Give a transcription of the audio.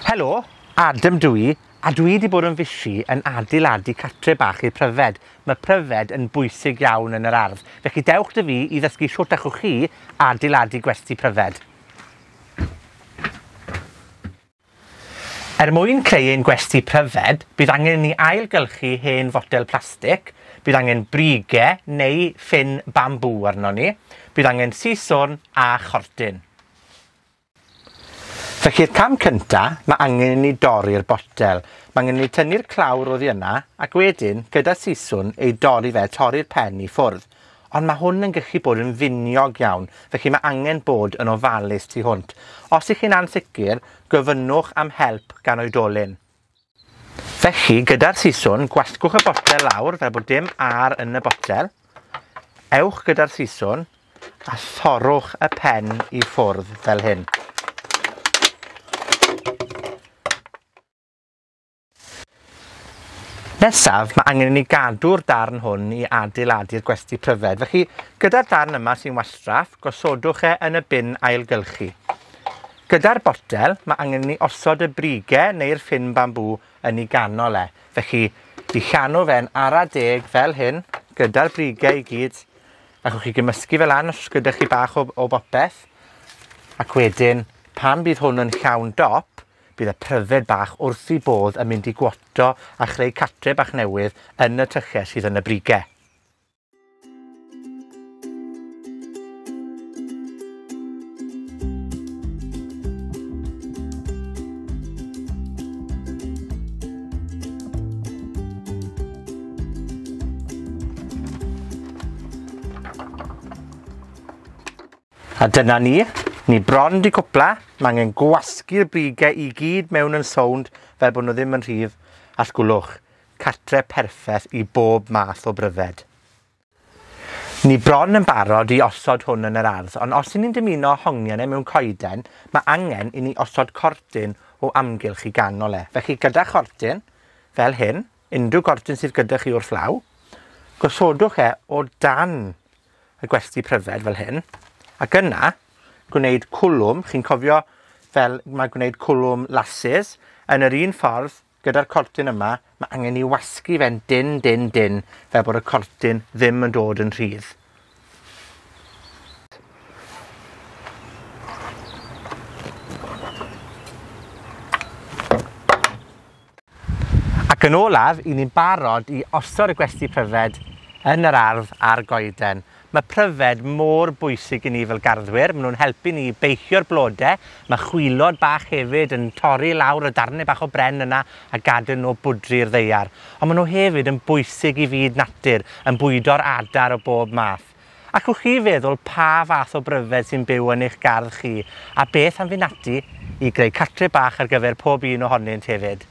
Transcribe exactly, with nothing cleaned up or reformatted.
Helo, Adam dw i, a dwi 'di bod yn fishi yn adeiladu catre bach i'r pryfed. Mae pryfed yn bwysig iawn yn yr ardd. Felly dewch 'da fi i ddysgu shwt allwch chi adeiladu gwesty pryfed. Er mwyn creu ein gwesty pryfed, bydd angen i ni ailgylchu hen fotel plastig, bydd angen brige neu ffyn bambŵ arnon ni, bydd angen siswrn a chortyn. Felly'r cam cynta, mae angen i ni dorri'r botel. Mae angen i ni tynnu'r clawr oddi yna, ac wedyn, gyda siswrn, ei dorri fe, torri'r pen i ffwrdd. Ond mae hwn yn gallu bod yn finiog iawn, felly mae angen bod yn ofalus tu hwnt. Os ych chi'n ansicr, gofynnwch am help gan oedolyn. Felly, gyda'r siswrn, gwasgwch y botel lawr fel bod dim ar yn y botel. Ewch gyda'r siswrn a thorrwch y pen i ffwrdd fel hyn. Nesaf, mae angen i ni gadw'r darn hwn i adeiladu'r gwesty pryfed. Felly, gyda'r darn yma sy'n wastraff, gosodwch e yn y bin ailgylchu. Gyda'r botel, mae angen i ni osod y brige neu'r ffyn bambŵ yn ei ganol e. Felly, i llanw fe'n ara deg fel hyn, gyda'r brige i gyd. Allwch chi gymysgu fel lan os gyda chi bach o, o bopeth. Ac wedyn, pan bydd hwn yn llawn dop, bydd y pryfed bach wrth i bodd yn mynd i gwoto a chreu catre bach newydd yn y tyllau sydd yn y brige. A dyna ni. Ni bron di cwpla, mae angen gwasgu'r brige i gyd mewn yn sownd fel bod nhw ddim yn rhydd, a sgwlwch, catre perffeth i bob math o bryfed. Ni bron yn barod i osod hwn yn yr ardd, ond os 'yn ni'n dymuno hongian e mewn coeden, mae angen i ni osod cortyn o amgylch i ganol e. Felly gyda chortyn, fel hyn, unrhyw gortyn sydd gyda chi wrth law, gosodwch e o dan y gwesty pryfed fel hyn, ac yna gwneud cwlwm, chi'n cofio fel mae gwneud cwlwm lasses, yn yr un ffordd, gyda'r cortyn yma, mae angen i wasgu fe'n dyn, dyn, dyn, fel bod y cortyn ddim yn dod yn rhydd. Ac yn olaf, i ni'n barod i osod y gwesty pryfed yn yr ardd a'r goeden. Mae pryfed mor bwysig i ni fel garddwyr, maen nhw'n helpu ni i beillio'r blode, mae chwilod bach hefyd yn torri lawr y darnau bach o bren yna a gadael nhw bwdri'r ddaear. Ond maen nhw hefyd yn bwysig i fyd natur, yn bwydo'r adar o bob math. Allwch chi feddwl pa fath o bryfed sy'n byw yn eich gardd chi, a beth am fynd ati i greu catre bach ar gyfer pob un ohonynt hefyd.